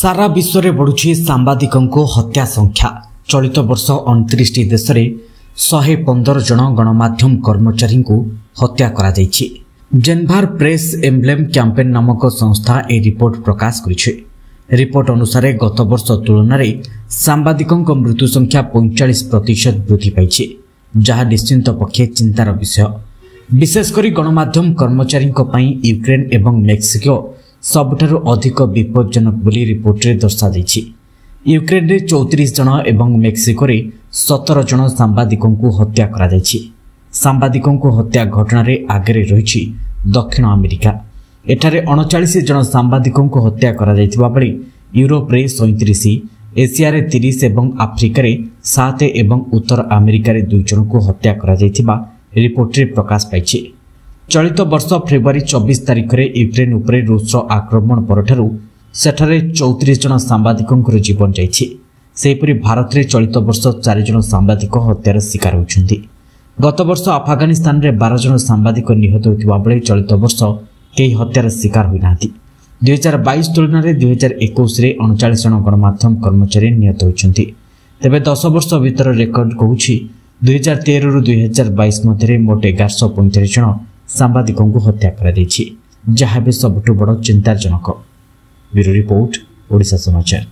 ସାରା ବିଶ୍ୱରେ ବଢ଼ୁଛି ସାମ୍ବାଦିକଙ୍କୁ ହତ୍ୟା ସଂଖ୍ୟା। ଚଳିତ ବର୍ଷ 29ଟି ଦେଶରେ 115 ଜଣ ଗଣମାଧ୍ୟମ କର୍ମଚାରୀଙ୍କୁ ହତ୍ୟା କରାଯାଇଛି। ଜେନଭାର ପ୍ରେସ୍ ଏମ୍ବ୍ଲେମ୍ କ୍ୟାମ୍ପେନ୍ ନାମକ ସଂସ୍ଥା ଏହି ରିପୋର୍ଟ ପ୍ରକାଶ କରିଛି। ରିପୋର୍ଟ ଅନୁସାରେ ଗତବର୍ଷ ତୁଳନାରେ ସାମ୍ବାଦିକଙ୍କ ମୃତ୍ୟୁ ସଂଖ୍ୟା 45% ବୃଦ୍ଧି ପାଇଛି, ଯାହା ନିଶ୍ଚିନ୍ତ ପକ୍ଷେ ଚିନ୍ତାର ବିଷୟ। ବିଶେଷ କରି ଗଣମାଧ୍ୟମ କର୍ମଚାରୀଙ୍କ ପାଇଁ ୟୁକ୍ରେନ୍ ଏବଂ ମେକ୍ସିକୋ ସବୁଠାରୁ ଅଧିକ ବିପଜ୍ଜନକ ବୋଲି ରିପୋର୍ଟରେ ଦର୍ଶାଯାଇଛି। ୟୁକ୍ରେନ୍ରେ 34 ଜଣ ଏବଂ ମେକ୍ସିକୋରେ 17 ଜଣ ସାମ୍ବାଦିକଙ୍କୁ ହତ୍ୟା କରାଯାଇଛି। ସାମ୍ବାଦିକଙ୍କୁ ହତ୍ୟା ଘଟଣାରେ ଆଗରେ ରହିଛି ଦକ୍ଷିଣ ଆମେରିକା। ଏଠାରେ 39 ଜଣ ସାମ୍ବାଦିକଙ୍କୁ ହତ୍ୟା କରାଯାଇଥିବା ବେଳେ ୟୁରୋପରେ 37, ଏସିଆରେ 30 ଏବଂ ଆଫ୍ରିକାରେ 7 ଏବଂ ଉତ୍ତର ଆମେରିକାରେ 2 ଜଣଙ୍କୁ ହତ୍ୟା କରାଯାଇଥିବା ରିପୋର୍ଟରେ ପ୍ରକାଶ ପାଇଛି। ଚଳିତ ବର୍ଷ ଫେବୃଆରୀ 24 ତାରିଖରେ ୟୁକ୍ରେନ୍ ଉପରେ ରୁଷର ଆକ୍ରମଣ ପରଠାରୁ ସେଠାରେ 34 ଜଣ ସାମ୍ବାଦିକଙ୍କର ଜୀବନ ଯାଇଛି। ସେହିପରି ଭାରତରେ ଚଳିତ ବର୍ଷ 4 ଜଣ ସାମ୍ବାଦିକ ହତ୍ୟାର ଶିକାର ହୋଇଛନ୍ତି। ଗତବର୍ଷ ଆଫଗାନିସ୍ତାନରେ 12 ଜଣ ସାମ୍ବାଦିକ ନିହତ ହୋଇଥିବା ବେଳେ ଚଳିତ ବର୍ଷ କେହି ହତ୍ୟାର ଶିକାର ହୋଇନାହାନ୍ତି। 2022 ତୁଳନାରେ 2021ରେ 39 ଜଣ ଗଣମାଧ୍ୟମ କର୍ମଚାରୀ ନିହତ ହୋଇଛନ୍ତି। ତେବେ 10 ବର୍ଷ ଭିତର ରେକର୍ଡ କହୁଛି, 2013ରୁ 2022 ମଧ୍ୟରେ ମୋଟ 1135 ଜଣ ସାମ୍ବାଦିକଙ୍କୁ ହତ୍ୟା କରାଯାଇଛି, ଯାହା ଏବେ ସବୁଠୁ ବଡ଼ ଚିନ୍ତାଜନକ। ବ୍ୟୁରୋ ରିପୋର୍ଟ, ଓଡ଼ିଶା ସମାଚାର।